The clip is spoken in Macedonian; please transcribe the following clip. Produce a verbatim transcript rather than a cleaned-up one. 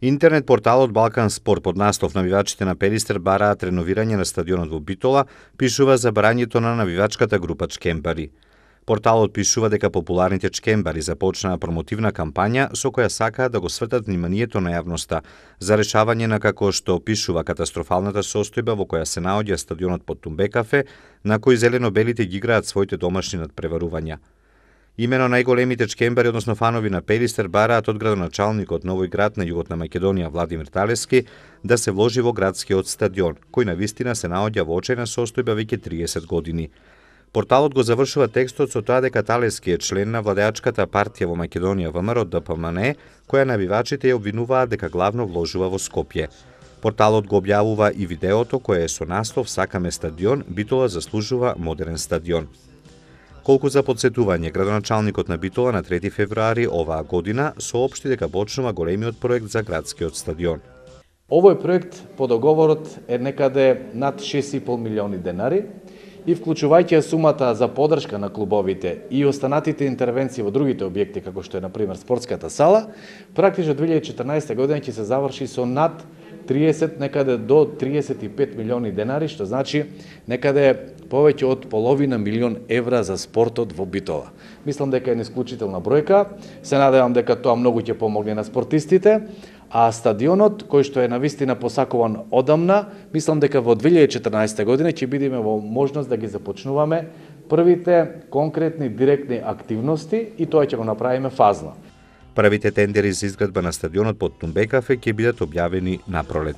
Интернет порталот Балкан Спорт под наслов "Навивачите на Пелистер бараат реновирање на стадионот во Битола" пишува за барањето на навивачката група Чкембари. Порталот пишува дека популарните чкембари започнаа промотивна кампања со која сакаат да го свртат вниманието на јавноста за решавање на, како што пишува, катастрофалната состојба во која се наоѓа стадионот под Тумбекафе, на кој зелено-белите ги играат своите домашни надпреварувања. Имено најголемите чкембари, односно фанови на Пелистер, бараат од градоначалникот Новој град на југот на Македонија Владимир Талески да се вложи во градскиот стадион, кој навистина се наоѓа во очајна состојба веќе триесет години. Порталот го завршува текстот со тоа дека Талески е член на владеачката партија во Македонија ВМРО Д П М Н, која навивачите ја обвинуваат дека главно вложува во Скопје. Порталот го објавува и видеото кое е со наслов "Сакаме стадион, Битола заслужува модерен стадион". Колку за подсетување, градоначалникот на Битола на трети февруари оваа година соопшти дека почнува големиот проект за градскиот стадион. Овој проект по договорот е некаде над шест и пол милиони денари и вклучувајќи сумата за поддршка на клубовите и останатите интервенции во другите објекти, како што е на пример спортската сала, практично две илјади и четрнаесетта година ќе се заврши со над триесет, некаде до триесет и пет милиони денари, што значи некаде повеќе од половина милион евра за спортот во Битола. Мислам дека е неисклучителна бројка, се надевам дека тоа многу ќе помогне на спортистите, а стадионот, кој што е навистина посакуван одамна, мислам дека во две илјади и четрнаесетта година ќе бидеме во можност да ги започнуваме првите конкретни директни активности и тоа ќе го направиме фазно. Првите тендери за изградба на стадионот под Тумбекафе ќе бидат објавени на пролет.